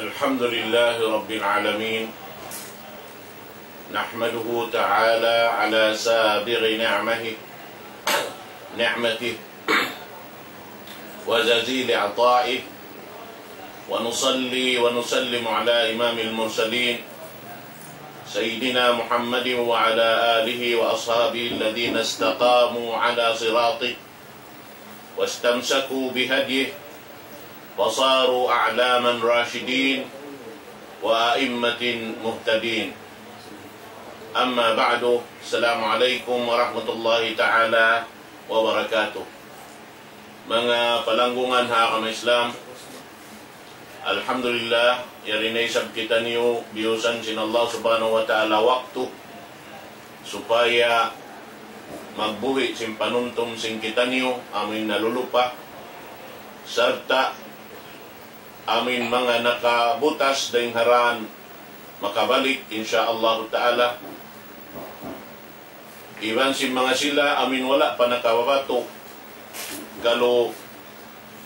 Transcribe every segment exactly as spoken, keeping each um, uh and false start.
الحمد لله رب العالمين. نحمده تعالى على سابغ نعمه، نعمته وجزيل عطائه، ونصلي ونسلم على إمام المرسلين سيدنا محمد وعلى آله وأصحابه الذين استقاموا على صراطه واستمسكوا بهديه فصاروا أعلاما راشدين وأئمة مهتدين. أما بعد، السلام عليكم ورحمة الله تعالى وبركاته. Manga palanggungan ha agama Islam, alhamdulillah, yari na isab kitaniyu biyusan sin Allah Subhanahu wa Ta'ala waktu supaya magbuhi' sin panumtum sin kitaniyu, amuin nalulupa, sarta' amuin manga nakabutas dayn ha dan makabalik, insya Allah Ta'ala. Iban sin manga sila amuin wala' pa nakababatu', kalu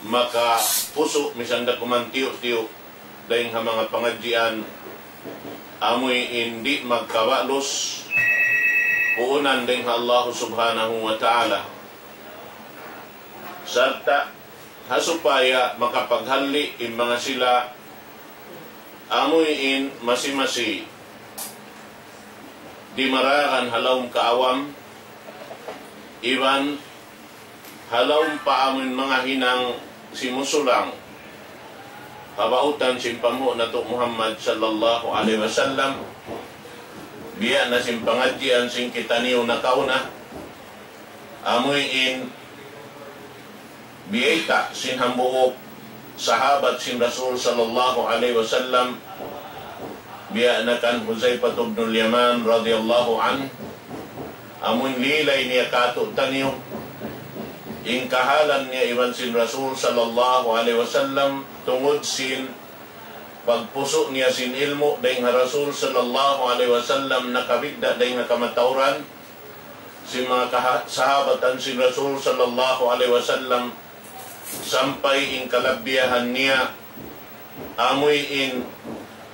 makapusu' misan da kuman tiyu'-tiyu' dayn ha manga pangadjian, amuin di' magkabalus puunan dayn ha Allah Subhanahu wa Ta'ala. Sarta' ha supaya makapaghalli' in manga sila amuin masi-masi dimaragan ha lawm kaawam, iban ha lawm pa amuin manga hinang simusulang kabautan sin panghu' natu' Muhammad sallallahu alayhi wasallam, biya' na sin pangadjian sin kitaniyu nakauna, amuin biyayta' sin hambuuk sahabat sin Rasul sallallahu alayhi wasallam, biya' na kan Huzaifatul Yaman radiyallahu anhu, amuin lilay niya kātu'niyu in kahalan niya iban sin Rasul sallallahu alayhi wasallam, tungud sin pagpusu' niya sin ilmu' dayn ha Rasul sallallahu alayhi wasallam, nakabidda' dayn ha kamatauran sin manga kaha-, sahabatan sin Rasul sallallahu alayhi wasallam, sampay in kalabbiyahan niya amuin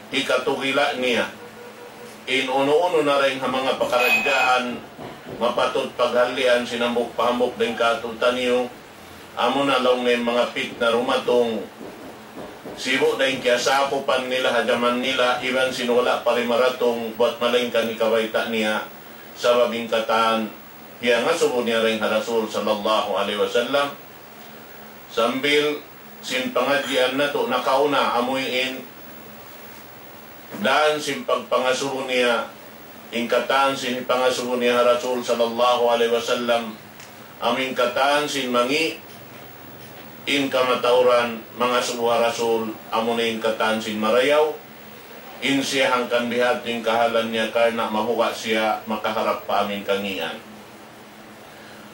hikatugila' niya in unu-unu na dayn ha manga pakaradjaan mapatut paghallian sin hambuuk pa hambuuk dayn kātu'niyu, amuna laung niya in manga pitna dumatung sibu' dayn kiyasakupan nila ha jaman nila, iban sin wala' pa limaratung buwat malaingkan hikabayta' niya, sabab in katan piyangasubu niya dayn ha Rasul sallallahu alayhi wasallam. Sambil sin pangadjian natu' nakauna, amuin dan sin pagpangasubu niya, in katan sin pangasubu niya ha Rasul sallallahu alayhi wasallam, amuin katan sin mangi' in kamatauran mangasubu ha Rasul, amuna in katan sin marayaw, in siya hangkan bihadtu in kahalan niya karna' mabuga' siya makaharap pa amuin kangīan.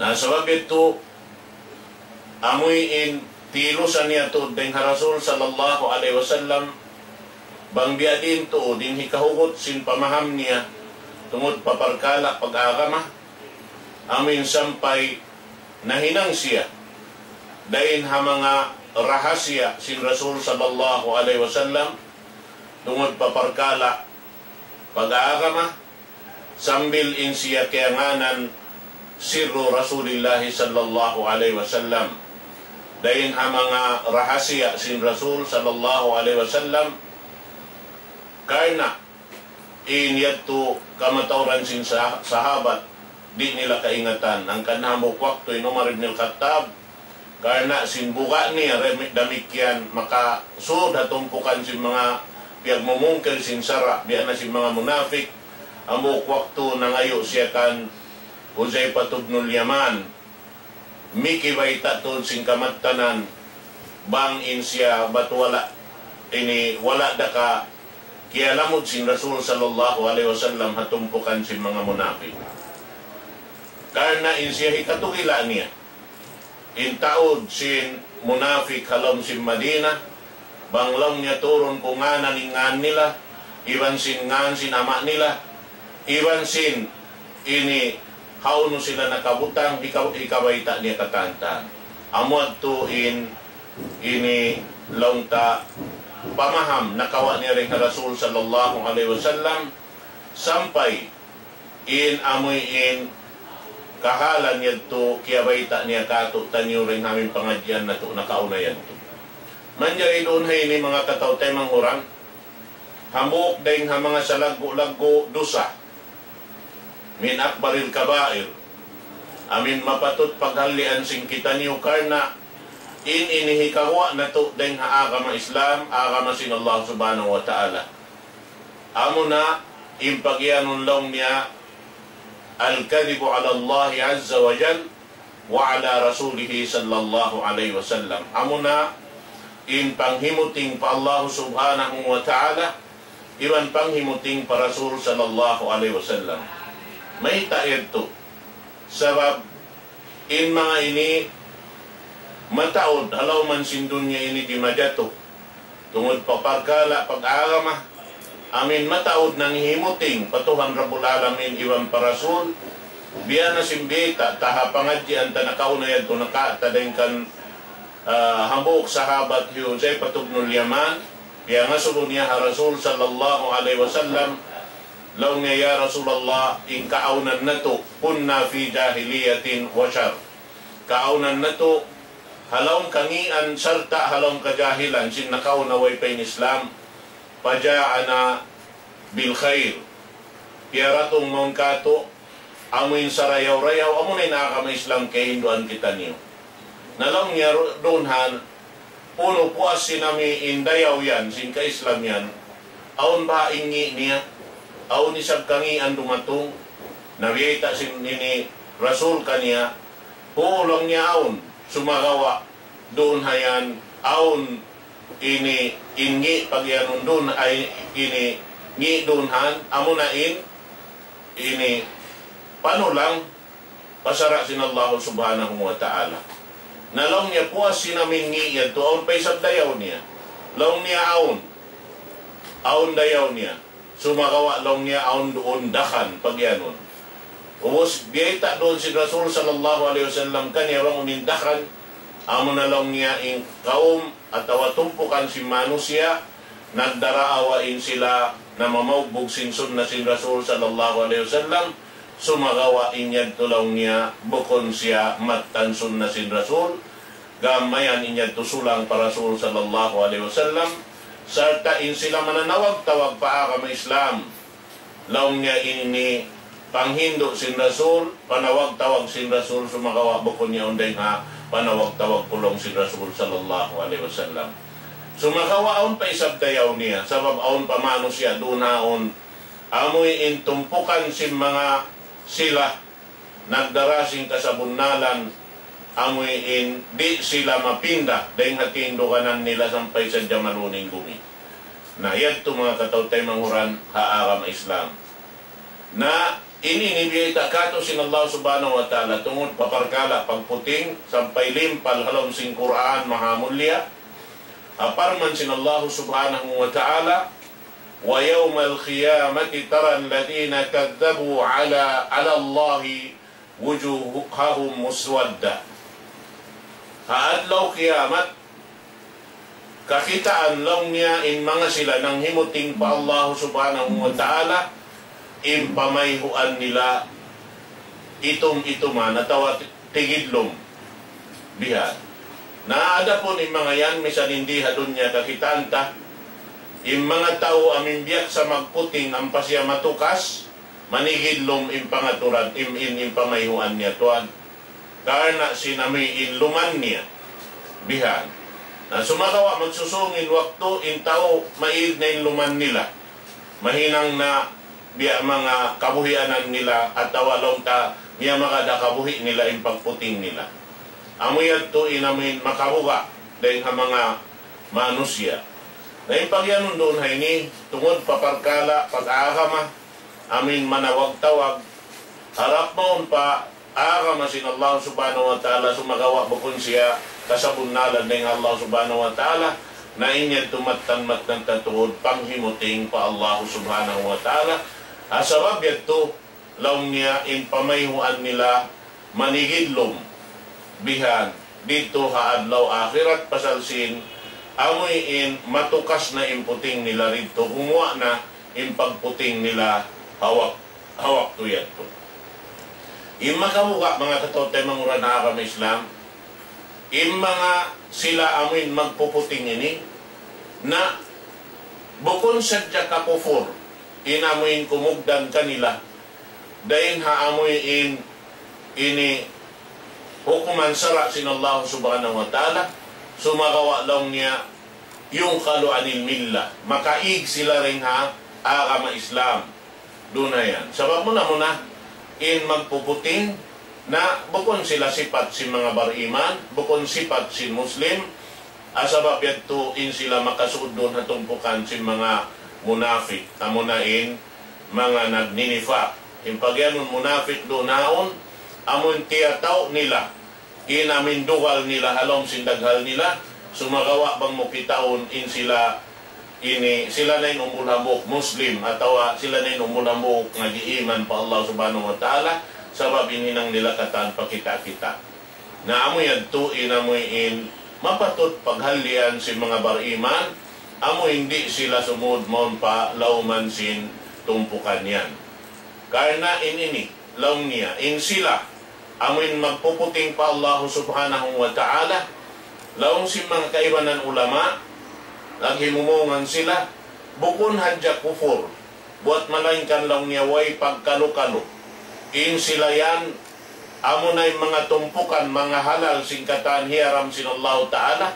Na sabab yadtu, amuin tilusan niya tuud dayn ha Rasul sallallahu alayhi wasallam, bang biyadiin tuud in hikahugut sin pamaham niya tungud pa parkala' pag-agama, amuin sampay nahinang siya dayn ha manga rahasiya sin Rasul sallallahu alayhi wasallam tungud pa parkala' pag-agama, sambil in siya kiyangānan sirru Rasulillahi sallallahu alayhi wasallam. Dayn ha manga rahasiya sin Rasul sallallahu alayhi wasallam, karna' in yadtu kamatauran sin sah-, sahabat, di' nila kaingatan. Hangkan hambuuk waktu in Umar ibn al-Khattab, karna' sin buga' niya, remi-, damikkiyan makasud ha tumpukan sin manga piyagmumungkil sin sara', biya' na sin manga munafik. Hambuuk waktu nangayu' siya kan Huzaifatul Yaman, mikibayta' tuud sin kamattanan, bang in siya bat wala', ini wala' da ka kiyalamud sin Rasul sallallahu alayhi wasallam ha tumpukan sin manga munafik. Karna' in siya hikatugila' niya in taud sin munafik ha lawm sin Madina, bang laung niya turun ku ngānan in ngān nila, iban sin ngān sin ama' nila, iban sin ini hawnu sila nakabutang, hika-, hikabayta' niya katan-katan. Amu yadtu in ini laung ta pamaham nakawa' niya dayn ha Rasul sallallahu alayhi wasallam, sampay in amuin kahalan yadtu kiyabayta' niya kātu'niyu dayn ha amuin pangadjian natu' nakauna yadtu. Manjari duun ha ini manga kataw-taymanghuran, hambuuk dayn ha manga salaggu'-laggu' dusa, من أكبر الكبائر. Amuin mapatut paghallian sin kitaniyu karna' in ini hikaguwa' natu' dayn ha agama Islam, agama sin Allah Subhanahu wa Ta'ala. Amuna in pagiyanun laung niya الكذب على الله عز وجل وعلى رسوله صلى الله عليه وسلم. Amuna in panghimuting pa Allah Subhanahu wa Ta'ala, iban panghimuting pa Rasul sallallahu alayhi wasallam. Mayta' yadtu? Sabab in manga ini mataud ha lawm sin dunya ini di' majatu. Tungud pa parkala' pag-agama, amuin mataud nanghimuting pa Tuhan Rabbul Alamin iban pa Rasul, biya' na sin biyayta' ta ha pangadjian ta nakauna yadtu nakawa' ta dayn kan, ah, hambuuk sahabat hi Hudhayfah ibnul Yaman, piyangasubu niya ha Rasul sallallahu alayhi wasallam, laung niya, "Ya Rasulullah, in kaawnan natu', كنا في جاهلية وشر." Kaawnan natu', ha lawm kangīan sarta' ha lawm kajahilan, sin nakauna way pa in Islam. فجاءنا بالخير. Piyaratung mawn kātu', amuin sarayaw-rayaw, amuna in agama Islam kahinduan kitaniyu. Na laung niya ru-, duun ha, unu puas sin amuin dayaw yan, sin ka-Islam yan, awn ba in ngī' niya, awn isab kangīan dumatung, na biyayta' sin ini Rasul kaniya, hu laung niya awn, sumagawa', duun ha yan, awn ini, in ngī' pagiyanun duun, ay ini, ngī' duun ha yan, amuna in, ini, panulang, pa sara' sin Allah Subhanahu wa Ta'ala. Na laung niya puas sin amuin ngī' yadtu, awn pa isab dayaw niya. Laung niya awn. Awn dayaw niya. Sumagawa' laung niya awn duun dakhan pagiyanun. Ubus biyayta' duun sin Rasul sallallahu alayhi wasallam kaniya bang unu in dakhan, amuna laung niya in kawm atawa tumpukan sin manusiya', nagdaraawa in sila namamaugbug sin sunna sin Rasul sallallahu alayhi wasallam, sumagawa' in yadtu laung niya bukun siya mattan sunna sin Rasul, gam mayan in yadtu sulang pa Rasul sallallahu alayhi wasallam, sarta' in sila mananawag-tawag pa agama Islam. Laung niya ini panghindu' sin Rasul, panawag-tawag sin Rasul, sumagawa' bukun yaun dayn ha panawag-tawag ku laung sin Rasul sallallahu alayhi wasallam. Sumagawa' awn pa isab dayaw niya, sabab awn pa manusiya' duun ha yaun, amuin tumpukan sin manga sila nagdara sin kasabunnalan, amuin di' sila mapinda dayn ha tinduganan nila sampay sadja maluning gumi. Na yadtu manga kataw-taymanghuran ha agama Islam. Na ini in biyayta' kātu' sin Allah Subhanahu wa Ta'ala tungud pa parkala' pagputing sampay limpal ha lawm sin Qur'an mahamulliya. Parman sin Allah Subhanahu wa Ta'ala, ويوم القيامة ترى الذين كذبوا على، على الله وجوههم مسودة. Ha adlaw kiyamat, kakitaan laung niya in manga sila nanghimuting pa Allah Subhanahu wa Ta'ala, in pamayhuan nila itum-ituman atawa ti-, tigidlum. Bihan. Na adapun in manga yan, misan in di ha dunya kakitaan ta, in manga tau amuin biyaksa magputing ampa siya matukas, manigidlum in pangaturan, in, in, in pamayhuan niya tuwan. Karna' sin amuin luman niya. Bihan. Na sumagawa' magsusūng in waktu, in tau maig na in luman nila. Mahinang na biya' manga kabuhianan nila atawa laung ta miyamagad ha kabuhi' nila in pagputing nila. Amu yadtu in amuin makabuga' dayn ha manga manusiya'. Na in pagiyanun duun ha ini, tungud pa parkala' pag-agama, amuin manawag-tawag, harap mawn pa agama sin Allah Subhanahu wa Ta'ala, sumagawa' bukun siya kasabunnalan dayn ha Allah Subhanahu wa Ta'ala, na in yadtu mattan-mattan ta tuud panghimuting pa Allah Subhanahu wa Ta'ala. Ha sabab yadtu, laung niya in pamayhuan nila manigidlum bihan didtu ha adlaw akhirat pasal sin amuin matukas na in puting nila didtu, gumuwa' na in pagputing nila ha wak-, ha waktu yadtu. In makabuga', manga kataymanghuran ha agama Islam, in manga sila amuin magpuputing ini, na bukun sadja kakupur in amuin kumugdan kanila dayn ha amuin ini hukuman sara' sin Allah Subhanahu wa Ta'ala, sumagawa' laung niya ينقل عن الملة, makaig sila dayn ha agama Islam. Duun na yan. Sabab muna-muna, in magpuputing na bukun sila sipat sin manga bariman, bukun sipat sin Muslim, ah, sabab yadtu in sila makasud duun ha tumpukan sin manga munafik, amuna in manga nagninifak. In pagiyanun munafik duun yaun, amun tiyatau' nila, in amin dugal nila ha lawm sin daghal nila, sumagawa' bang mu kitaun in sila ini, sila na in umbul hambuuk Muslim, atawa sila na in umbul hambuuk nag-iiman pa Allah Subhanahu wa Ta'ala, sabab in hinang nila katan pakita'-kita'. Na amu yadtu in amuin mapatut paghallian sin manga bariman, amuin di' sila sumud mawn pa lawman sin tumpukan yan. Karna' in ini, laung niya, in sila, amuin magpuputing pa Allah Subhanahu wa Ta'ala, laung sin manga kaibanan ulama, naghimumungan sila, bukun hadja kupur, buwat malaingkan laung niya way pagkalu-kalu. In sila yan, amuna in manga tumpukan, manga halal sin katan hiyaram sin Allah Ta'ala,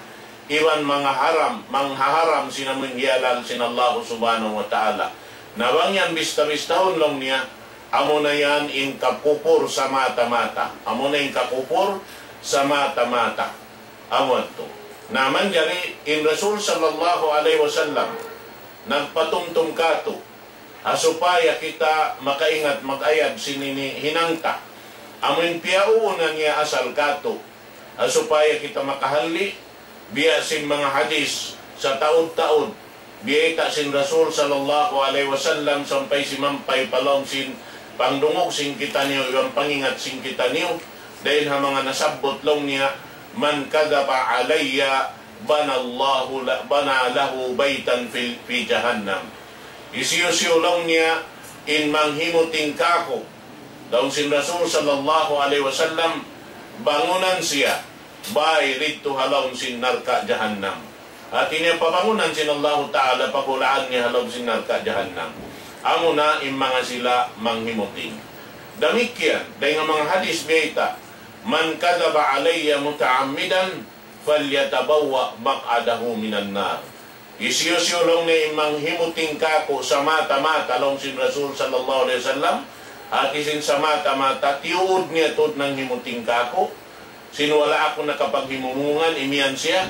iban manga haram, manga haram sin amuin hiyalal sin Allah Subhanahu wa Ta'ala. Na bang yan bista-bistahun laung niya, amuna yan in kakupur samata-mata. Amuna in kakupur samata-mata. Amu yadtu. Na manjari in Rasul sallallahu alayhi wasallam nagpatumtum katu', ha supaya kita makaingat mag-ayad sin ini hinang ta. Amuin piyauuna niya asal katu', ha supaya kita makahalli', biya' sin manga hadis sataud-taud, biyayta' sin Rasul sallallahu alayhi wasallam sampay simampay pa lawm sin pangdungug sin kitaniyu, iban pangingat sin kitaniyu, dayn ha manga nasabbut laung niya, من كذب علي بنى الله ل-، بنى له بيتا في، في جهنم. Hisiyu-siyu laung niya in manghimuting kāku', laung sin Rasul sallallahu alayhi wasallam, bangunan siya bāy didtu ha lawm sin narka' jahannam. Hāti niya pabangunan sin Allahu Ta'ala, pagulaan niya ha lawm sin narka' jahannam. Amuna in manga sila manghimuting. Damikkiyan, dayn ha manga hadis biyayta', من كذب علي متعمدا فليتبوأ مقعده من النار. Hisiyu-siyu laung niya in manghimuting kāku' samata-mata, laung sin Rasul sallallahu alayhi wasallam, hāti sin samata-mata, tiyuud niya tuud nanghimuting kāku', sin wala' aku nakapaghimumungan, imiyan siya,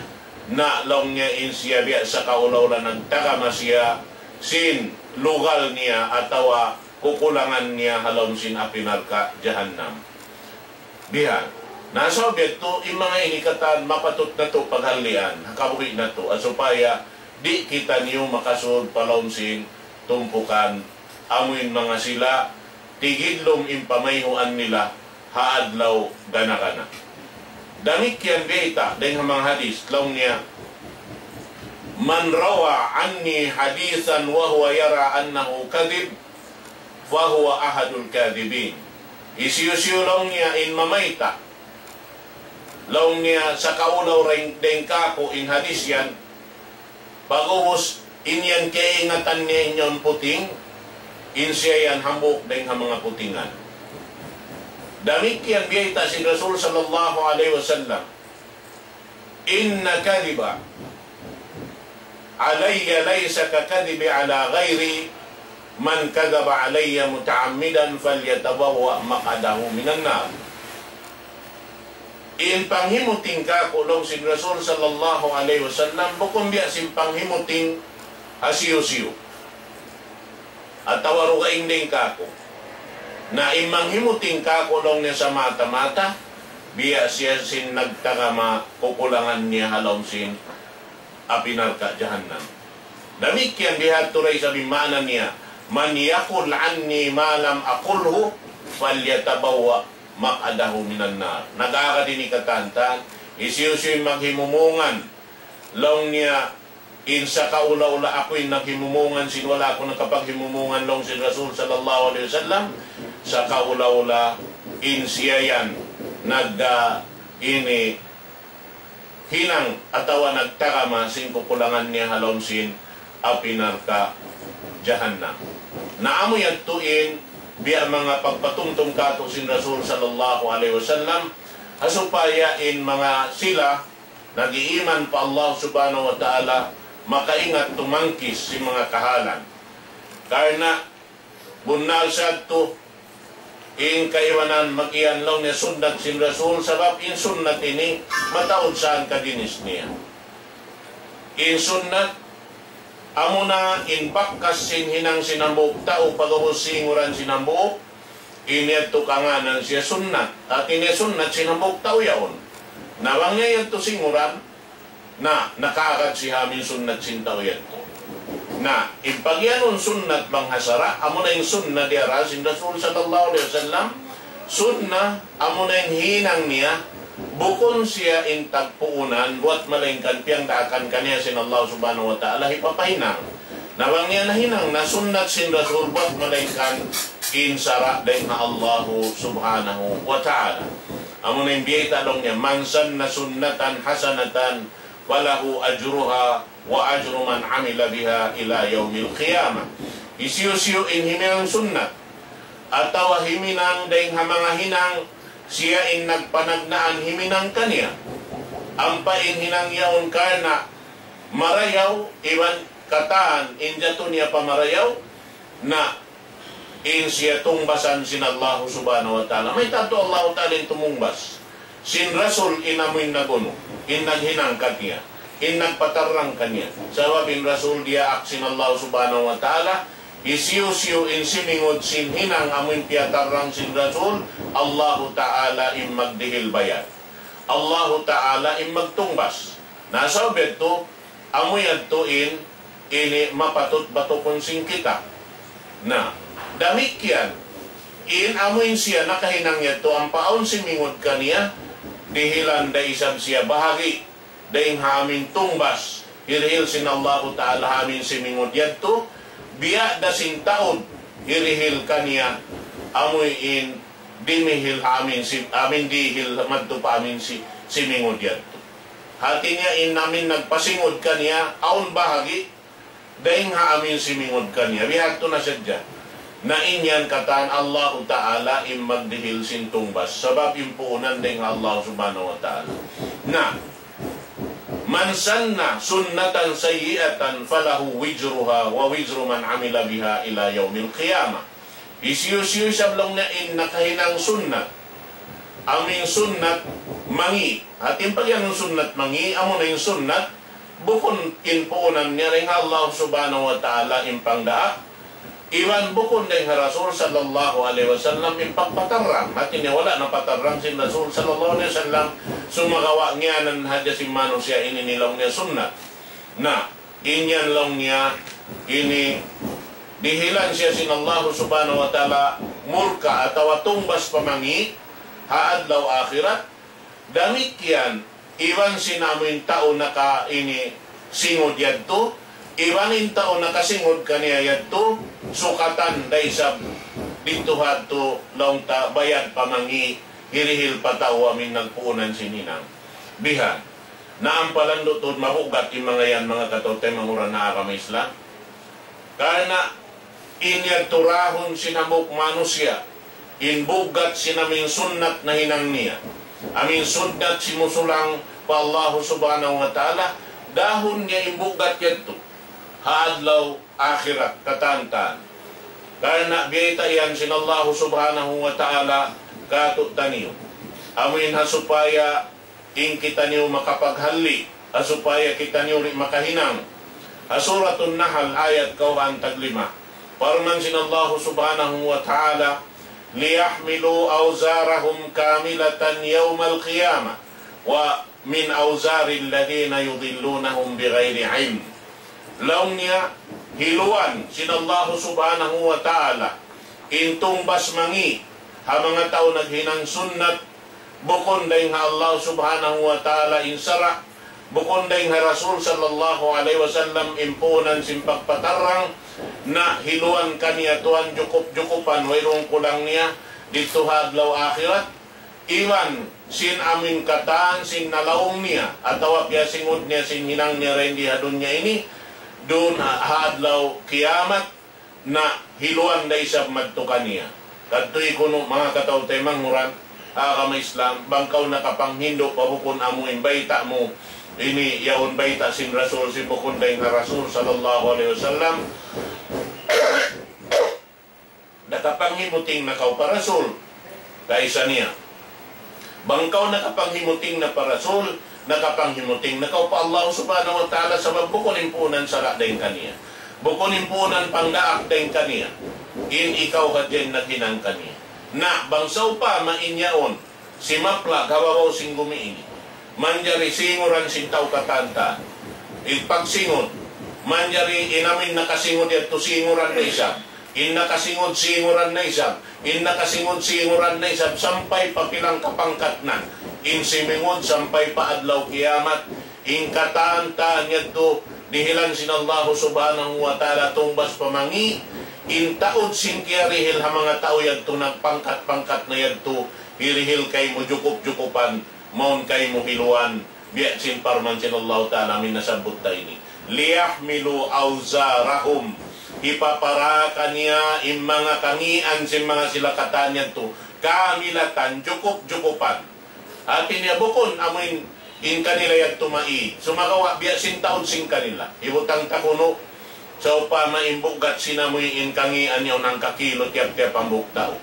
na laung niya in siya biya' sakaula-ula nagtagama siya sin lugal niya atawa kukulangan niya ha lawm sin api narka' jahannam. Bihan. Na sabab yadtu, in manga ini katan mapatut natu' paghallian, ha kabuhi' natu', ha supaya di' kitaniyu makasud pa lawm sin tumpukan, amuin manga sila, tigidlum in pamayhuan nila, ha adlaw gana-gana. Damikkiyan biyayta', dayn ha manga hadis, laung niya, من روى عني حديثا وهو يرى أنه كذب فهو أحد الكاذبين. Hisiyu-siyu laung niya in mamayta', laung niya sakaula-ula dayn kāku' in hadis yan, pag'ubus in yan kaingatan niya in yan puting, in siya yan hambuuk dayn ha manga putingan. Damikkiyan biyayta' sin Rasul sallallahu alayhi wasallam, إن كذب علي ليس ككذبي على غيري، من كذب علي متعمدا فليتبوأ مقعده من النار. In panghimuting kāku', laung sin Rasul sallallahu alayhi wasallam, bukun biya' sin panghimuting hisiyu-siyu atawa dugaing dayn kāku'. Na in manghimuting kāku', laung niya, samata-mata, biya' siya sin nagtagama kukulangan niya ha lawm sin api narka' jahannam. Damikkiyan bihadtu da isab in maana niya, من يقل عني ما لم أقله فليتبوأ مقعده من النار. Nag-agad ini katantan, hisiyu-siyu in maghimumungan Laung niya, in sakaula-ula aku in naghimumungan sin wala' aku nakapaghimumungan laung sin Rasul sallallahu alayhi wasallam, sakaula-ula in siya yan nag, ah, ini hinang atawa nagtarama sin kukulangan niya ha lawm sin api narka' jahannam. Na amu yadtu in biya' manga pagpatumtum kātu' sin Rasul sallallahu alayhi wasallam, ha supaya in manga sila nag-iiman pa Allah subhanahu wa ta'ala makaingat tumangkis sin manga kahalan. Karna' bunnal sadtu in kaibanan mag-iyan laung niya sunnat sin Rasul, sabab in sunnat ini mataud saan ka ginis niya. In sunnat, amuna in bakas sin hinang sin hambuuk tau pag'ubus singuran sin hambuuk, in yadtu kangānan siya sunnat. Hāti niya sunnat sin hambuuk tau yaun. Na bang niya yadtu singuran, na, nakaagad siya ha amu in sunnat sin tau yadtu. Na, in pagiyanun sunnat bang ha sara', amuna in sunnat diyara sin Rasul sallallahu alayhi wasallam, sunnat, amuna in hinang niya, bukun siya in tagpuunan, buwat malaingkan piyangdaakan kaniya sin Allah subhanahu wa ta'ala, hipapahinang. Na bang niya nahinang na sunnat sin Rasul, buwat malaingkan in sara' dayn ha Allah subhanahu wa ta'ala. Amuna in biyayta' laung niya, من سن سنة حسنة فله أجرها وأجر من عمل بها إلى يوم القيامة. Hisiyu-siyu in himinang sunnat, atawa himinang dayn ha manga hinang, siya in nagpanagnaan himinang kaniya. Ampa in hinang yaun karna' marayaw, iban katan in jatu niya pa marayaw, na in siya tungbasan sin Allahu subhanahu wa ta'ala. Mayta' tuud Allahu ta'ala in tumungbas? Sin Rasul in amu in nag-unu, in naghinang kaniya, in nagpatarrang kaniya. Sabab in Rasul diyaak sin Allahu subhanahu wa ta'ala, hisiyu-siyu in simingud sin hinang amu in piyatarrang sin Rasul, Allahu ta'ala in magdihil bayad. Allahu ta'ala in magtungbas. Na sabab yadtu, amu yadtu in ini mapatut batukun sin kita. Na, damikkiyan, in amu in siya nakahinang yadtu ampa awn simingud kaniya, dihilan da isab siya bahagi' dayn ha amu in tungbas hirihil sin Allahu ta'ala ha amu in simingud yadtu, biya' da sin taud hirihil kaniya amu in dimihil ha amu in si-, amu in dihil madtu pa amu in si-, simingud yadtu. Hāti niya in amu in nagpasingud kaniya, awn bahagi' dayn ha amu in simingud kaniya. Bihadtu na sadja. Na in yan katan Allahu ta'ala in magdihil sin tungbas. Sabab in puunan dayn ha Allah subhanahu wa ta'ala. Na, من سن سنة سيئة فله وزرها ووزر من عمل بها إلى يوم القيامة. Hisiyu-siyu isab laung niya in nakahinang sunnat, amu in sunnat mangi'. Hāti in pagiyanun sunnat mangi', amuna in sunnat bukun in puunan niya dayn ha Allah subhanahu wa ta'ala in pangdaak, iban bukun dayn ha Rasul sallallahu alayhi wasallam in pagpatarrang. Hāti niya wala' napatarrang sin Rasul sallallahu alayhi wasallam, sumagawa' ngiyanan hadja sin manusiya' ini in laung niya sunnat. Na, in yan laung niya, ini dihilan siya sin Allah subhanahu wa ta'ala murka atawa tungbas pa mangi' ha adlaw akhirat. Damikkiyan, iban sin amu in tau naka ini singud yadtu, iban in tau nakasingud kaniya yadtu, sukatan da isab didtu hadtu laung ta bayad pa mangi' hirihil pa tau amu in nagpuunan sin hinang. Bihan. Na ampa landu' tuud mabugat in manga yan, manga kataymanghuran ha agama Islam. Karna' in yadtu rahun sin hambuuk manusiya', in bugat sin amu in sunnat nahinang niya, amu in sunnat simusulang pa Allah subhanahu wa ta'ala, dahun niya in bugat yadtu ha adlaw akhirat katantan. Karna' biyayta' yan sin Allah subhanahu wa ta'ala kātu'niyu. Amu in ha supaya in kitaniyu makapaghalli', ha supaya kitaniyu di' makahinang. Ha Suratun Nahl ayat kawhaan taglima. Parman sin Allah subhanahu wa ta'ala, ليحملوا أوزارهم كاملة يوم القيامة ومن أوزار الذين يضلونهم بغير علم. Laung niya, hiluan sin Allah subhanahu wa ta'ala in tungbas mangi' ha manga tau naghinang sunnat bukun dayn ha Allah subhanahu wa ta'ala in sara', Bukun dayn ha Rasul sallallahu alayhi wasallam in puunan sin pagpatarrang na hiluan kaniya tuwan jukup-jukupan, wayruun kulang niya didtu ha adlaw akhirat, iban sin amuin katan sin nalaung niya, atawa piyasingud niya sin hinang niya dayn di ha dunya ini, duun ha, ha adlaw kiyamat, na hiluan da isab madtu kaniya. Kadtuy kunu' manga kataw-taymanghuran ha agama Islam, bang kaw nakapanghindu' pa bukun amu in bayta' mu, ini yaun bayta' sin Rasul, sin bukun dayn ha Rasul sallallahu alayhi wasallam, nakapanghimuting na kaw pa Rasul. Kaysa niya. Bang kaw nakapanghimuting na pa Rasul, nakapanghimuting na kaw pa Allah subhanahu wa ta'ala, sabab bukun in puunan sara' dayn kaniya. Bukun in puunan pangdaak dayn kaniya. In ikaw hadja in naghinang kaniya. Na, bang sawpama in yaun, simaplag ha babaw sin gumi ini. Manjari singuran sin tau katantan. In pagsingud, manjari in amuin nakasingud yadtu singuran na isab. In nakasingud, singuran na isab. In nakasingud, singuran na isab. Sampay pa pilang kapangkat na. In simingud, sampay pa adlaw kiyamat. In katan-katan yadtu, dihilan sin Allah subhanahu wa ta'ala, tungbas pa mangi'. In taud sin kiyarihil ha manga tau yadtu, nagpangkat-pangkat na yadtu, hirihil kaymu jukup-jukupan, mawn kaymu hiluan. Biya' sin parman sin Allahu Ta'ala amuin nasabbut ta ini. ليحملوا أوزارهم. Hipapara kaniya in manga kangian sin manga sila katan yadtu. كاملة, jukup-jukupan. Hati niya bukun amuin in kanila yadtu maī. Sumagawa' biya' sin taud sin kanila. Hibutang ta kunu', sawpama in buggat sin amuin kangian yaun hangka kilu tiyap-tiyap hambuuk tau.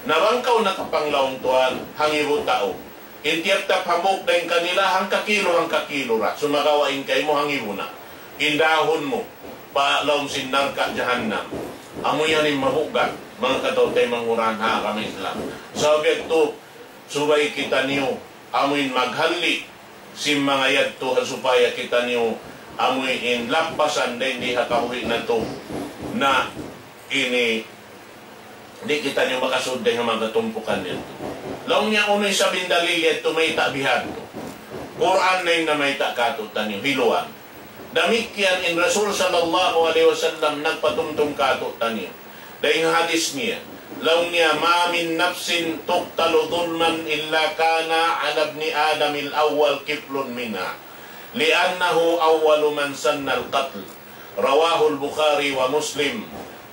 Na bang kaw nakapanglaung tuwan, hangibu tau. In tiyap-tiyap hambuuk dayn kanila, hangka kilu, hangka kilu ra. Sumagawa' in kaymu hangibu na. In dahun mu, pa lawm sin narka' jahannam. Amu yan in mabuggat, manga kataw-taymanghuran ha agama Islam. Sabab yadtu, subay kitaniyu, amuin maghalli', sin manga yadtu ha supaya kitaniyu, amuin lappasan dayn di ha kabuhi' natu'. Na, ini, di' kitaniyu makasud dayn ha manga tumpukan yadtu. Laung niya unu isab in dalil yadtu mayta' bihadtu. Qur'an na in namayta' kātu'niyu, hiluan. Damikkiyan in Rasul sallallahu alayhi wasallam nagpatumtum kātu'niyu. Dayn ha hadis niya, laung niya, ما من نفس تقتل ظلما إلا كان على ابن آدم الأول كفل منها، لأنه أول من سن القتل. رواه البخاري ومسلم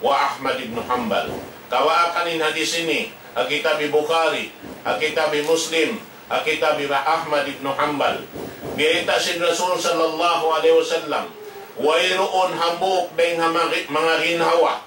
وأحمد بن حنبل. Kawaakan in hadis ini, ha kitab Bukhari, ha kitab Muslim, ha kitab Ahmad ibn Hanbal. Biyayta' sin Rasul sallallahu alayhi wasallam, wayruun hambuuk dayn ha manga, manga ginhawa,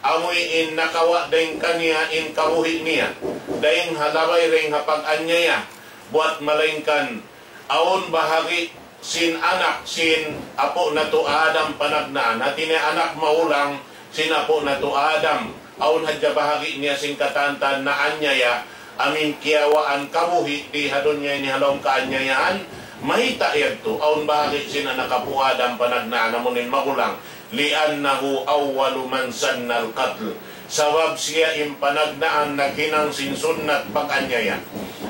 amuin nakawa' dayn kaniya in kabuhi' niya, dayn ha labay dayn ha pag-anyaya, buwat malaingkan awn bahagi' sin anak sin apu' natu' Adam panagnaan, hati niya anak magulang sin apu' natu' Adam, awn hadja bahagi' niya sin katantan naanyaya, amuin kiyawaan kabuhi' di ha dunya ini ha lawm kaanyayahan, mayta' yadtu, awn bahagi' sin anak apu' Adam panagnaan, amuin magulang, لأنه أول من سن القتل. Sabab siya in panagnaan naghinang sin sunnat pag-anyaya.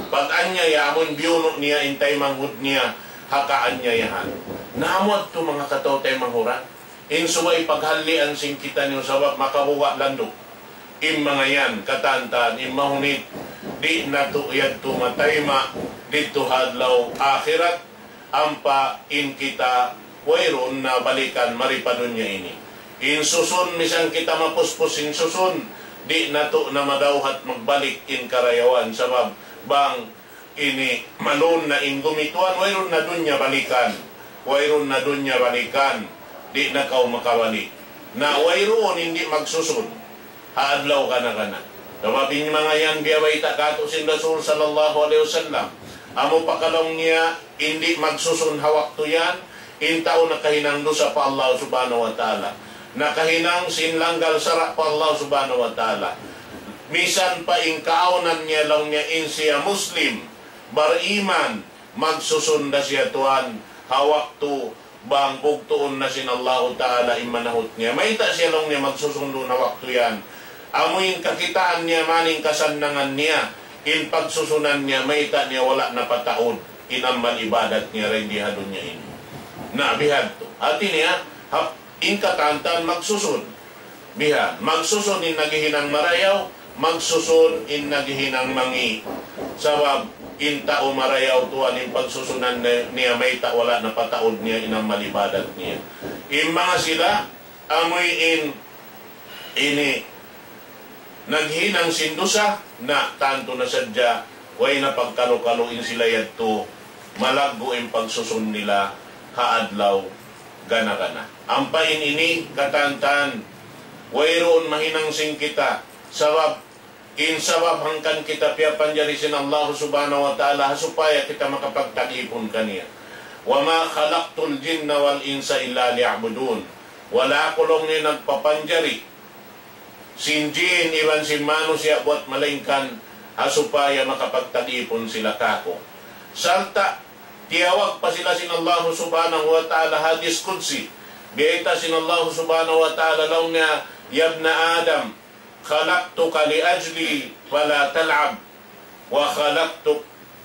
Pag-anyaya amun biyunu' niya in taymanghud niya ha kaanyayahan. Na amu yadtu manga kataw-taymanghuran. In subay paghallian sin kitaniyu sabab makabuga' landu'. In manga yan, katantan, in mahunit, di' natu' yadtu matayma' didtu ha adlaw akhirat, ampa in kita wayruun na balikan mari pa dunya ini. In susun, misan kita mapuspus in susun, di' natu' na madawhat magbalik in karayawan, sabab bang ini malun na in gumi tuwan, wayruun na dunya balikan, wayruun na dunya balikan, di' na kaw makabalik. Na wayruun in di' magsusun ha adlaw kana-kana. Sabab in manga yan biyabayta' kātu' sin Rasul sallallahu alayhi wasallam. Amu pa laung niya, in di' magsusun ha waktu yan, in tau nakahinang dusa pa Allah subhanahu wa ta'ala. Nakahinang sin langgal sara' pa Allah subhanahu wa ta'ala. Misan pa in kaawnan niya laung niya in siya Muslim, bariman, magsusun da siya tuwan ha waktu bang bugtuun na sin Allahu Ta'ala in manahut niya. Mayta' siya laung niya magsusun duun ha waktu yan? Amu in kakitaan niya, maning kasannangan niya, in pagsusunan niya, mayta' niya wala' napataud in amal ibadat niya dayn di ha dunya ini. Na, bihadtu. Hati niya, hap-, in katantan magsusun. Bihan, magsusun in naghihinang marayaw, magsusun in naghihinang mangi'. Sabab, in tau marayaw tuwan in pagsusunan ni-, niya mayta' wala' na pataud niya in amal ibadat niya. In manga sila, amuin ini naghinang sin dusa, na tantu na sadja, way na pagkalu-kalu in sila yadtu, malaggu' in pagsusun nila ha adlaw gana-gana. Ampa in ini katantan, wayruun mahinang sin kita, sabab, in sabab hangkan kita piyapanjari sin Allah Subhanahu wa Ta'ala, ha supaya kita makapagtag-ipun kaniya. وما خلقت الجن والإنس إلا ليعبدون. Wala' aku laung niya nagpapanjari sin jin iban sin manusiya' buwat malaingkan ha supaya makapagtag-ipun sila kāku'. Sarta' tiyawag pa sila sin Allah Subhanahu wa Ta'ala ha hadis qudsi. Biyayta' sin Allah Subhanahu wa Ta'ala laung niya, يا ابن آدم خلقتك لأجلي فلا تلعب وخلقت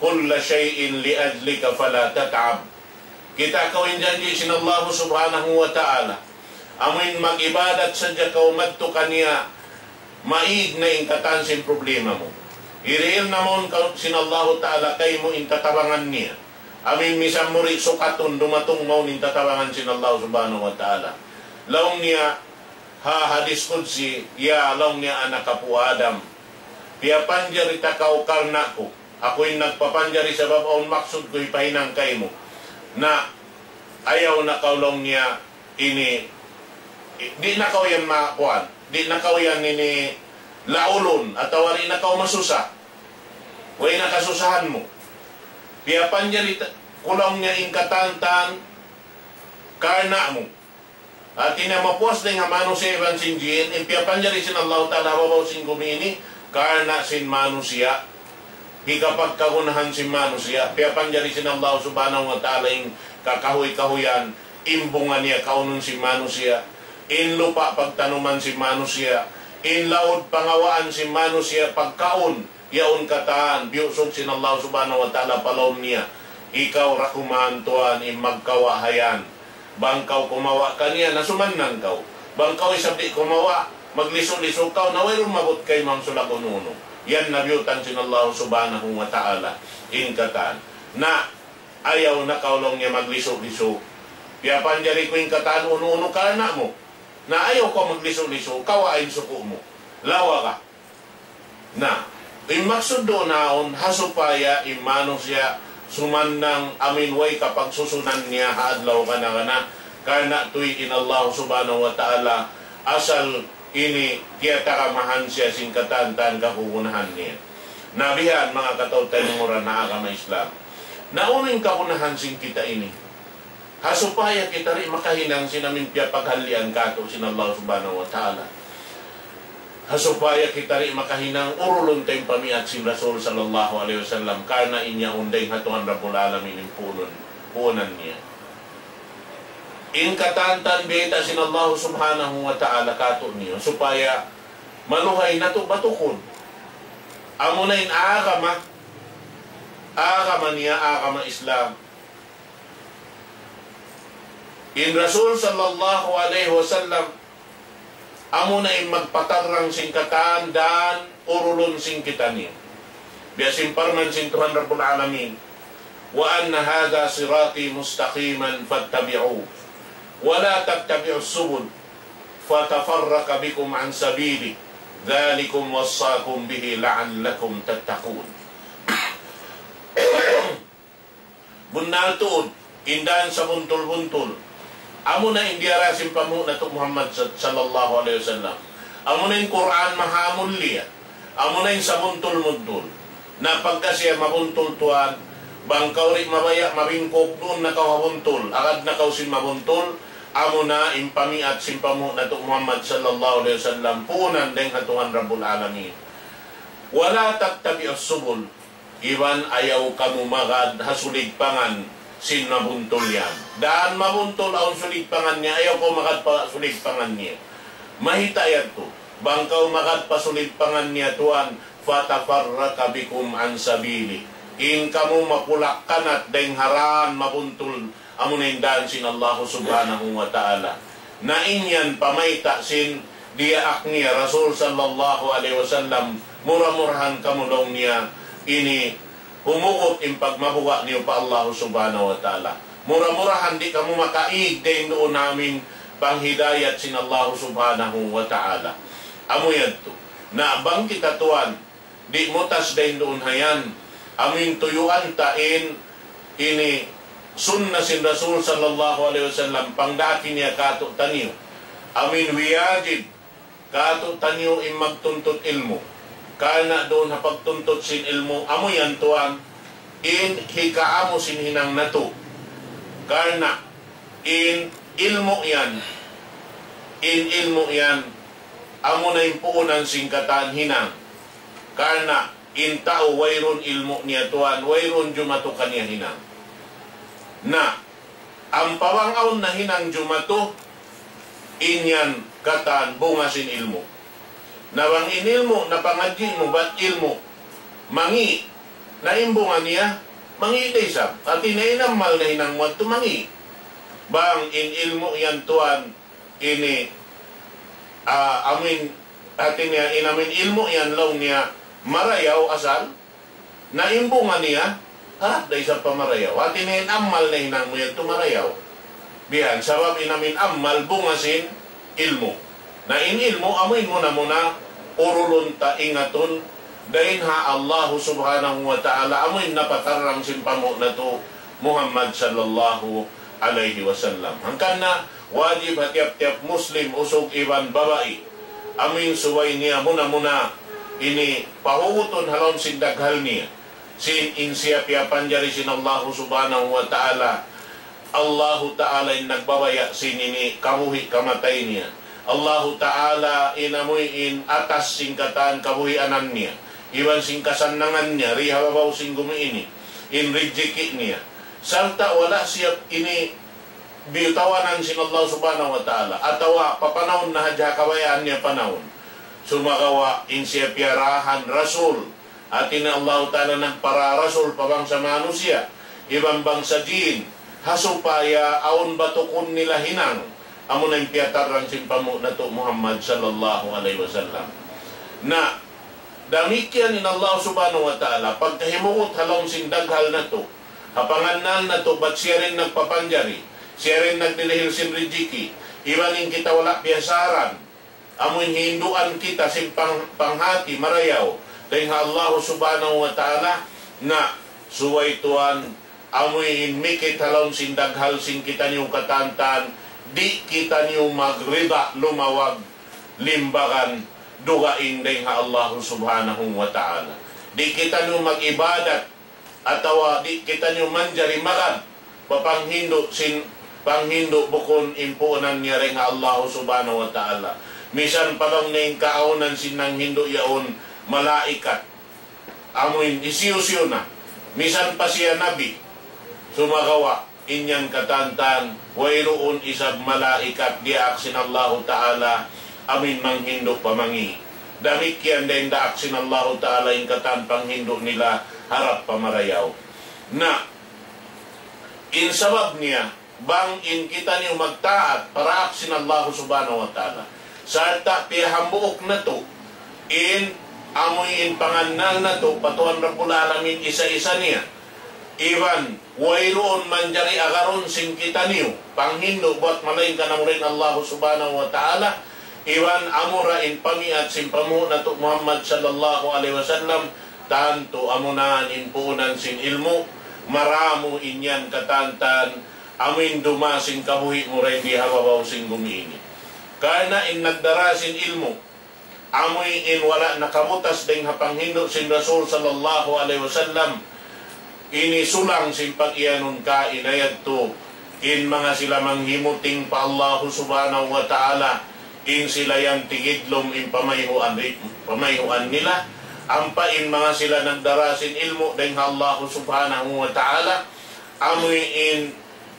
كل شيء لأجلك فلا تتعب. Kita' kaw in janji' sin Allah Subhanahu wa Ta'ala. Amuin mag-ibadat sadja kaw madtu kaniya, maig na in katan sin problema mu. Hirihil na mawn kaw sin Allah Ta'ala kaymu in tatabangan niya. Amuin misan mu di' sukatun dumatung mawn in tatabangan sin Allah Subhanahu wa Ta'ala. Laung niya, ha hadis qudsi, ya laung niya anak apu' Adam, piyapanjari ta kaw karna' ku. Aku in nagpapanjari sabab awn maksud ku hipahinang kaymu. Na, ayaw na kaw laung niya ini, di' na kaw yan makuan, di' na kaw yan ini laulun, atawa di' na kaw masusa. Way na kasusahan mu. Piyapanjari ta-, ku laung niya in katantan karna' mu. Hati niya mapuas dayn ha manusiya' iban sin jin, in piyapanjari sin Allahu Ta'ala ha babaw sin gumi ini, karna' sin manusiya'. Hikapagkagunahan sin manusiya', piyapanjari sin Allah Subhanahu wa Ta'ala in kakahuy-kahuyan, in bunga niya kaunun sin manusiya', in lupa' pagtanuman sin manusiya', in laud pangawaan sin manusiya' pagkaun, yaun katan, biyusug sin Allah Subhanahu wa Ta'ala pa lawm niya. Ikaw ra kuman tuwan in magkawa' hayan. Bang kaw kumawa' kaniya, na sumannang kaw. Bang kaw isab di' kumawa', maglisu-lisu kaw, na wayruun maabut kaymu in sulag unu-unu. Yan na biyutang sin Allah Subhanahu wa Ta'ala in katan. Na, ayaw na kaw laung niya maglisu-lisu. Piyapanjari ku in katan unu-unu karna' mu. Na ayaw kaw maglisu-lisu, kawa' in suku' mu. Lawa ka. Na, in maksud duun yaun, ha supaya in manusiya' sumannang amuin way kapagsusunan niya ha adlaw kana-kana, karna' tuud in Allah Subhanahu wa Ta'ala, asal ini tiyatagamahan siya sin katan-katan kagunahan niya. Na bihan, manga kataw-taymanghuran ha agama Islam. Na unu in kagunahan sin kita ini? Ha supaya kita di' makahinang sin amuin piyapaghalian kātu' sin Allah Subhanahu wa Ta'ala. Ha supaya kita di' makahinang urulun ta in pamiat sin Rasul sallallahu alayhi wasallam, karna' in yaun dayn ha Tuhan Rabbul Alamin in puunan, puunan niya. In katantan biyayta' sin Allah Subhanahu wa Ta'ala kātu'niyu, supaya maluhay natu' batukun. Amuna in agama, agama niya, agama Islam. In Rasul sallallahu alayhi wasallam, amuna in magpatarrang sin katan dan urulun sin kitaniyu. Biya' sin parman sin Tuhan Rabbul Alamin, وأن هذا صراطي مستقيما فاتبعوه ولا تتبعوا السبل فتفرق بكم عن سبيله ذلكم وصاكم به لعلكم تتقون. Bunnal tuud, in dan sabuntul-buntul. Amuna in diyara sin panghu' natu' Muhammad sa-, sallallahu alayhi wasallam. Amuna in Qur'an mahamulliya. Amuna in sabuntul-buntul. Na pagka siya mabuntul tuwan, bang kaw di' mabaya' mabingkuk duun na kaw ha buntul, agad na kaw sin mabuntul, amuna in pamiat sin panghu' natu' Muhammad sallallahu alayhi wasallam, puunan dayn ha Tuhan Rabbul Alamin. ولا تتبعوا السبل. Iban ayaw kamu magad ha suligpangan sin mabuntul yan. Dan mabuntul awn suligpangan niya, ayaw kaw magad pa suligpangan niya. Mayta' yadtu? Bang kaw magad pa suligpangan niya tuwan, فتفرق بكم عن سبيله. In kamu mapulak-kanat dayn ha dan mabuntul Amu na in dan sin Allahu Subhanahu wa Ta'ala. Na in yan pamayta' sin diyaak niya Rasul sallallahu alayhi wasallam, mura-murahan kamu laung niya ini humugut in pagmabuga' niyu pa Allahu Subhanahu wa Ta'ala. Mura-murahan di' kamu makaig dayn duun ha amin panghidayat sin Allahu Subhanahu wa Ta'ala. Amu yadtu. Na bang kita tuwan, di' mutas dayn duun ha yan. Amin tuyuan ta in ini sunna sin Rasul sallallahu alayhi wasallam, pangdaaki niya kātu'niyu. Amin wiyajib kātu'niyu in magtuntut ilmu'. Karna' duun ha pagtuntut sin ilmu', amu yan tuwan, in hikaamu sin hinang natu'. Karna' in ilmu' yan, in ilmu' yan, amu na in puunan sin katan hinang. Karna' in tau wayruun ilmu' niya tuwan, wayruun jumatu kaniya hinang. Na, ampa bang awn na hinang jumatu, in yan katan bunga sin ilmu'. Na bang in ilmu' na pangadji' mu bat ilmu' mangi', na in bunga niya mangi' da isab. Hati niya in amal na hinang mu yadtu mangi'. Bang in ilmu' yan tuwan ini, ah, amin, hati niya in amin ilmu' yan laung niya marayaw asal, na in bunga niya harap da isab pa marayaw. Hati niya in amal na hinang mu yadtu marayaw. Bihan, sabab in amin amal bunga sin ilmu'. Na in ilmu' amu in muna-muna urulun ta ingatun dayn ha Allahu Subhanahu wa Ta'ala, amu in napatarrang sin panghu' natu' Muhammad sallallahu alayhi wasallam. Hangkan na wajib ha tiyap-tiyap Muslim, usug iban babai, amu in subay niya muna-muna ini pahugutun ha lawm sin daghal niya. Sin in siya piyapanjari sin Allahu Subhanahu wa Ta'ala. Allahu Ta'ala in nagbabaya' sin ini kabuhi' kamatay niya. Allahu Ta'ala in amuin atas sin katan kabuhianan niya. Iban sin kasannangan niya, di ha babaw sin gumi ini. In rijiki' niya. Sarta' wala' siya ini biyutawanan sin Allah Subhanahu wa Ta'ala. Atawa papanawun na hadja kabayaan niya panawun. Sumagawa' in siya piyarahan Rasul. Hati niya Allahu Ta'ala nagpara Rasul pa bangsa manusiya', iban bangsa jin, ha supaya awn batukun nila hinang, amu na in piyatarrang sin panghu' natu' Muhammad sallallahu alayhi wasallam. Na, damikkiyan in Allah Subhanahu wa Ta'ala, pagkahimugut ha lawm sin daghal natu', ha pangannal natu', bat siya da in nagpapanjari, siya da in nagdihil sin rijiki', iban in kita wala' piyasaran, amu in hinduan kita sin pang-, panghati marayaw dayn ha Allah Subhanahu wa Ta'ala, na subay tuwan, amu in mikit ha lawm sin daghal sin kitaniyu katantan, di' kitaniyu magrida lumawag limbagan dugaing dayn ha Allah Subhanahu wa Ta'ala. Di' kitaniyu mag-ibadat atawa di' kitaniyu manjari magad pa panghindu' sin, panghindu' bukun in puunan niya dayn ha Allah Subhanahu wa Ta'ala. Misan pa laung niya in kaawnan sin nanghindu' yaun malaikat. Amuin hisiyu-siyu na. Misan pa siya nabi. Sumagawa', in yan katantan, wayruun isab malaikat diyaak sin Allahu Ta'ala, amuin manghindu' pa mangi'. Damikkiyan da in daak sin Allahu Ta'ala in katan panghindu' nila harap pa marayaw. Na, in sabab niya, bang in kitaniyu magtaat pa daak sin Allahu Subhanahu wa Ta'ala, sarta' piyahambuuk natu' in amuin pangannal natu' pa Tuhan Rabbul Alamin isa-isa niya. Iban wayruun manjari agarun sin kitaniyu panghindu' buwat malaingkan amura in Allahu Subhanahu wa Ta'ala, iban amura in pamiyat sin panghu' natu' Muhammad sallallahu alayhi wasallam, tantu amuna in puunan sin ilmu', maramu in yan katantan, amuin duma sin kabuhi' mu dayn di ha babaw sin gumi ini. Karna' in nagdara sin ilmu', amuin wala' nakabutas dayn ha panghindu' sin Rasul sallallahu alayhi wasallam, ini sulang sin pag-iyanun kaina yadtu, in manga sila manghimuting pa Allahu Subhanahu wa Ta'ala, in sila yan tigidlum in pamayhuan ri-, pamayhuan nila, ampa in manga sila nagdara sin ilmu' dayn ha Allahu Subhanahu wa Ta'ala, amuin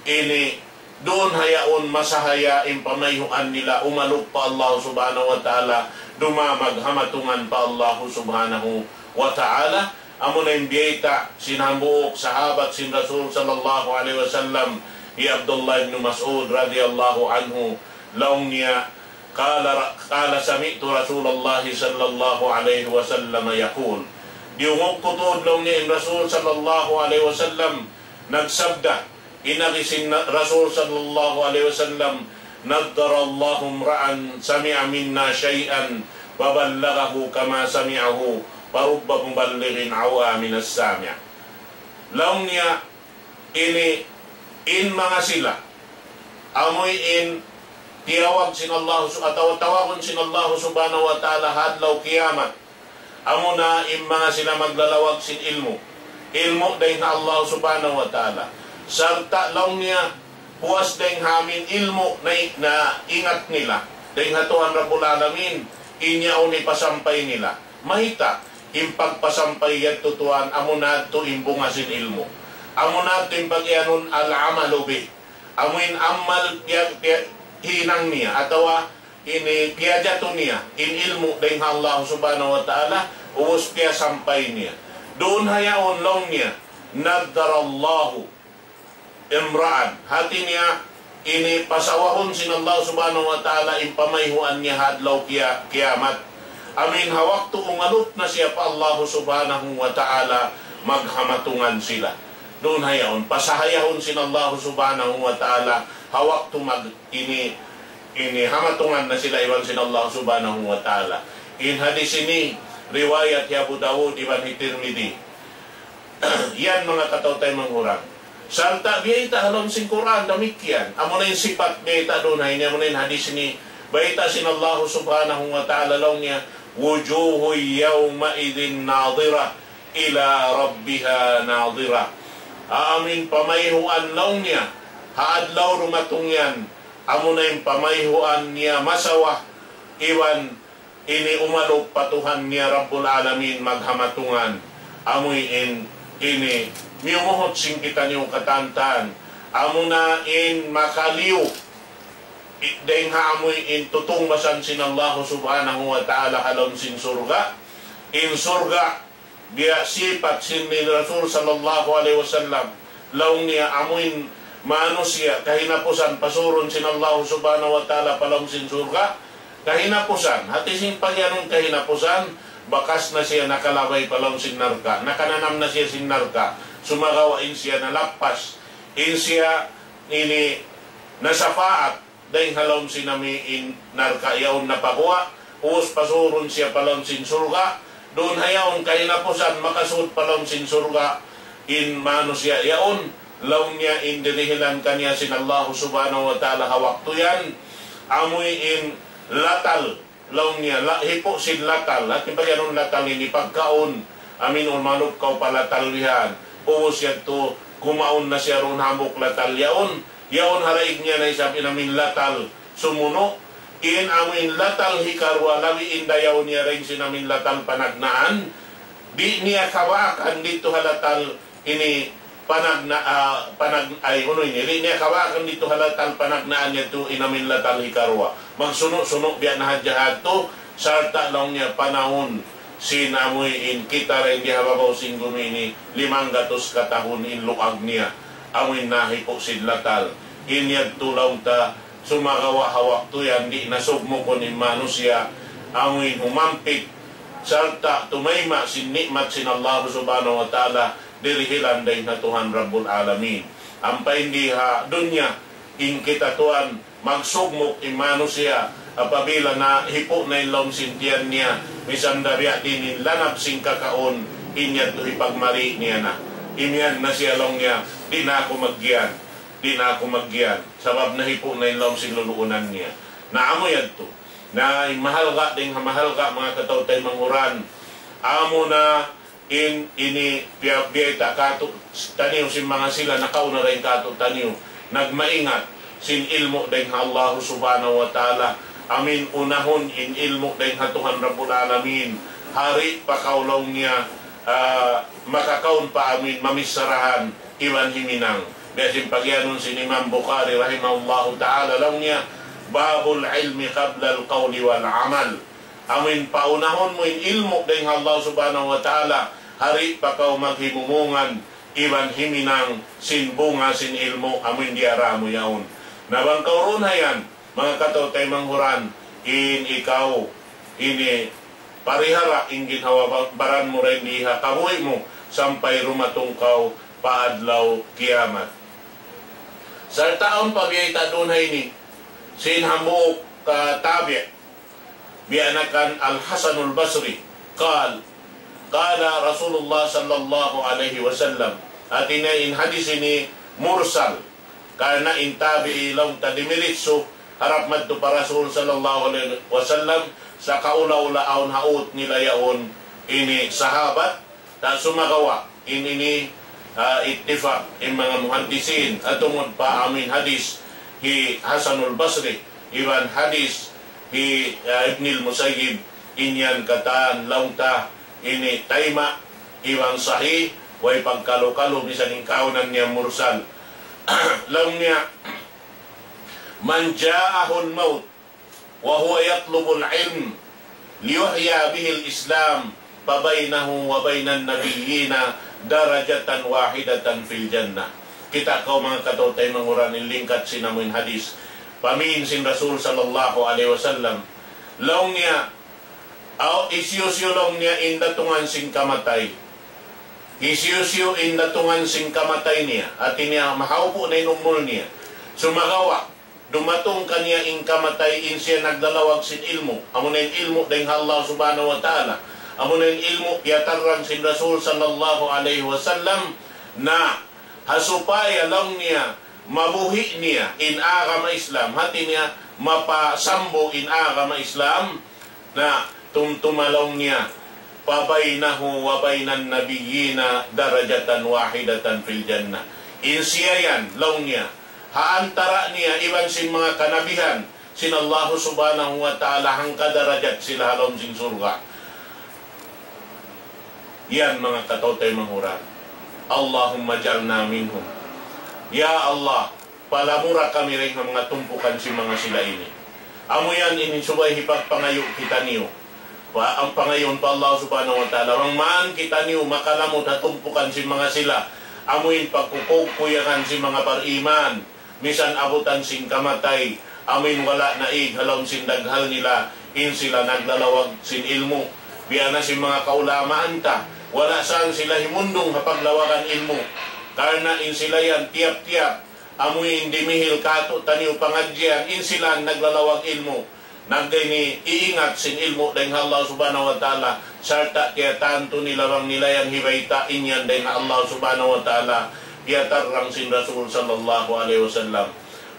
ini duun ha yaun masahaya in pamayhuan nila umalup pa Allah Subhanahu wa Ta'ala, dumamag ha matungan pa Allah Subhanahu wa Ta'ala. Amuna in biyayta' sin hambuuk sahabat sin Rasul sallallahu alayhi wasallam, Hi Abdullah ibn Mas'ud radiyallahu anhu, laung niya, قال، قال سمعت رسول الله صلى الله عليه وسلم يقول. Diyungug ku tuud laung niya in Rasul sallallahu alayhi wasallam nagsabda, in agi sin Rasul sallallahu alayhi wasallam, نضر الله امرأ سمع منا شيئا فبلغه كما سمعه فرب مبلغ أوعى من السامع. Laung niya, ini, in manga sila, amuin tiyawag sin Allah su-, atawa tawagun sin Allah subhanahu wa ta'ala ha adlaw kiyamat. Amuna in manga sila maglalawag sin ilmu'. Ilmu' dayn ha Allah subhanahu wa ta'ala. Sarta' laung niya, puas dayn ha amin ilmu' na, na ingat nila dayn ha Tuhan Rabbul Alamin, in yaun hipasampay nila. Mayta', in pagpasampay yadtu tuwan, amuna yadtu in bunga sin ilmu'. Amuna yadtu in pag-iyanun al-amalu bih. Amuin amal piya-, piya-, hinang niya, atawa ini piyajatu niya, in ilmu' dayn ha Allah subhanahu wa ta'ala, ubus piyasampay niya. Duun ha yaun laung niya, نضر الله امرأ. Hati niya, ini pasawahun sin Allah subhanahu wa ta'ala in pamayhuan niya ha adlaw kiya-, kiyamat. Amuin ha waktu umalup na siya pa Allah subhanahu wa ta'ala, maghamatungan sila. Duun ha yaun, pasahayahun sin Allah subhanahu wa ta'ala, ha waktu mag-, ini, ini hamatungan na sila iban sin Allah subhanahu wa ta'ala. In hadis ini, riwayat hi Abu Dawud iban hi Tirmidhi. Yan manga kataw-taymanghuran. Sarta' biyayta' ha lawm sin Qur'an, damikkiyan. Amuna in sipat biyayta' duun ha ini, amuna in hadis ini, bayta' sin Allah subhanahu wa ta'ala laung niya, وجوه يومئذ ناضرة إلى ربها ناظرة. Amuin pamayhuan laung niya, ha adlaw dumatung yan, amuna in pamayhuan niya masawa, iban ini umalup pa Tuhan niya Rabbul Alamin maghamatungan. Amuin ini miyumuhut sin kitaniyu katantan. Amuna in makaliyu i-, dayn ha amuin tutungbasan sin Allah subhanahu wa ta'ala ha lawm sin surga'. In surga', biya' sipat sin ni Rasul sallallahu alayhi wasallam, laung niya amuin manusiya' kahinapusan pasurun sin Allah subhanahu wa ta'ala pa lawm sin surga', kahinapusan, hati sin pagiyanun kahinapusan, bakas na siya nakalabay pa lawm sin narka', nakananam na siya sin narka', sumagawa' in siya nalappas, in siya ini nasapaat, dayn ha lawm sin amuin narka' yaun napaguwa', ubus pasurun siya pa lawm sin surga', duun ha yaun kahinapusan makasud pa lawm sin surga', in manusiya' yaun, laung niya in dirihilan kaniya sin Allah subhanahu wa ta'ala ha waktu yan, amuin latal, laung niya, la-, hipu' sin latal, hati pagiyanun latal ini pagkaun, amuin umalup kaw pa latal bihan, ubus yadtu, kumaun na siya duun hambuuk latal yaun, yaun ha daig niya na isab in amuin latal sumunu', in amuin latal hikaruwa labi in dayaw niya dayn sin amuin latal panagnaan, di' niya kabaakan didtu ha latal ini panagna-, ah, panag-, ay, unu ini, di' niya kabaakan didtu ha latal panagnaan yadtu in amuin latal hikaruwa. Magsunu'-sunu' biya' na hadja yadtu, sarta' laung niya panahun sin amuin kita dayn di ha babaw sin gumi ini, limanggatus katahun in luag niya, amuin nahipu' sin latal. In yadtu laung ta, sumagawa' ha waktu yan di' na sugmukun in manusiya', amuin humampit, sarta' tumayma' sin ni'mat sin Allah subhanahu wa ta'ala, dirihilan dayn ha Tuhan Rabbul Alamin. Ampa in di ha dunya, in kita tuwan, magsugmuk in manusiya', apabila nahipu' na in lawm sin tiyan niya, misan da biya' diin in lanab sin kakaun, in yadtu hipagmari niya na. Imiyan na siya laung niya, di' na aku maggiyan, di' na aku maggiyan, sabab nahipu' na in lawm sin luluunan niya. Na amu yadtu. Na in mahalga' dayn ha mahalga', manga kataw-taymanghuran, amu na in ini piya-, biyayta' kātu'niyu sin manga sila nakauna dayn kātu'niyu, nagmaingat sin ilmu' dayn ha Allah subhanahu wa ta'ala. Amuin unahun in ilmu' dayn ha Tuhan Rabbul Alamin. Di' pa kaw laung niya, ah, makakaun pa amuin mamicharahan iban himinang. Biya' sin pagiyanun sin Imam Bukhari rahimahullahu ta'ala laung niya, باب العلم قبل القول والعمل. Amuin paunahun mu in ilmu' dayn ha Allah subhanahu wa ta'ala, di' pa kaw maghimumungan, iban himinang sin bunga sin ilmu' amuin diyara mu yaun. Na bang kaw duun ha yan, manga kataw-taymanghuran, in ikaw, ini parihara in ginhawa-baran mu dayn di ha kabuhi' mu sampay dumatung kaw pa adlaw kiyamat. Sarta' awn pa biyayta' duun ha ini, sin hambuuk ka tabi', biya' na kan Al-Hasanul Basri, قال قال رسول الله صلى الله عليه وسلم. Hati niya in hadis ini mursal, karna' in tabi'i laung ta dimiritsu harap madtu pa Rasul sallallahu alayhi wasallam, sa' kaula-ula awn ha ut nila yaun ini sahabat, ta sumagawa' in ini, ah, ittifaq in manga muhaddisin, ha tungud pa amuin hadis hi Hasanul Basri, iban hadis hi, ah, Ibnil Musayyib, in yan katan laung ta ini tayma' iban sahih, way pagkalu-kalu, misan in kaunan niya mursal. Laung niya, من جاءه الموت وهو يطلب العلم ليحيي به الإسلام فبينه وبين النبيين درجة واحدة في الجنة. Kita' kaw manga kataw-taymanghuran in lingkat sin amuin hadis. Pamin sin Rasul sallallahu alayhi wasallam. Laung niya, aw, hisiyu-siyu laung niya in datungan sin kamatay. Hisiyu-siyu in datungan sin kamatay niya. Hati niya, mahaupu' na in umul niya. Sumagawa', dumatung kaniya in kamatay, in siya naglalawag sin ilmu'. Amuna in ilmu' dayn ha Allah subhanahu wa ta'ala. Amuna in ilmu' piyatarrang sin Rasul sallallahu alayhi wasallam na ha supaya laung niya mabuhi' niya in agama Islam. Hati niya mapasambu in agama Islam. Na tumtuma laung niya, فبينه وبين النبيين درجة واحدة في الجنة. In siya yan, laung niya, ha antara' niya iban sin manga kanabihan sin Allahu subhanahu wa ta'ala, hangka darajat sila ha lawm sin surga'. Yan manga kataw-taymanghuran. اللهم اجعلنا منهم. Ya Allah, palamura kami dayn ha manga tumpukan sin manga sila ini. Amu yan in subay hipagpangayu' kitaniyu. Pa, in pangayuun pa Allah subhanahu wa ta'ala, bang man kitaniyu makalamud ha tumpukan sin manga sila, amuin pagkukuykuyagan sin manga bariman, misan abutan sin kamatay, amuin wala' naig ha lawm sin daghal nila, in sila naglalawag sin ilmu'. Biya' na sin manga kaulamaan ta, wala' saan sila himundung ha paglawagan ilmu'. Karna' in sila yan tiyap-tiyap, amuin dimihil kātu'niyu pangadjian, in sila naglalawag ilmu'. Nagdayni iingat sin ilmu' dayn ha Allah subhanahu wa ta'ala, sarta' tiyatantu nila bang nila yan hibayta' in yan dayn ha Allah subhanahu wa ta'ala, piyatarrang sin Rasul sallallahu alayhi wasallam.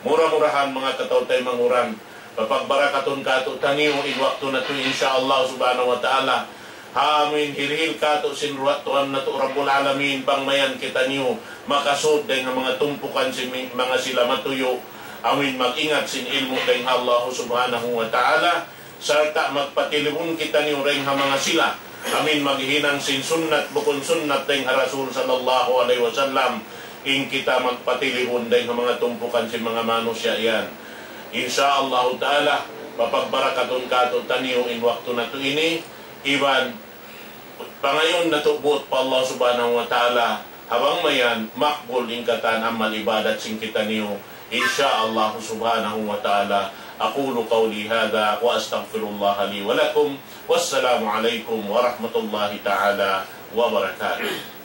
Mura-murahan manga kataw-taymanghuran, papagbarakatun kātu'niyu in waktu natu', insya Allah subhanahu wa ta'ala. Ha amuin hirihil kātu' sin ruwa' Tuhan natu' Rabbul Alamin, bang mayan kitaniyu makasud dayn ha manga tumpukan sin mi-, manga sila matuyu', amuin mag-ingat sin ilmu' dayn ha Allah subhanahu wa ta'ala, sarta' magpatilibun kitaniyu dayn ha manga sila, amuin maghinang sin sunnat bukun sunnat dayn ha Rasul sallallahu alayhi wasallam, in kita magpatilibun dayn ha manga tumpukan sin manga manusiya' yan. Insya Allah ta'ala, papagbarakatun kātu'niyu in waktu natu' ini, iban pangayuun natu' buut pa Allah subhanahu wa ta'ala, ha bang mayan makbul in katan amal ibadat sin kitaniyu, insya Allah subhanahu wa ta'ala. أقول قولي هذا وأستغفر الله لي ولكم. والسلام عليكم ورحمة الله تعالى وبركاته.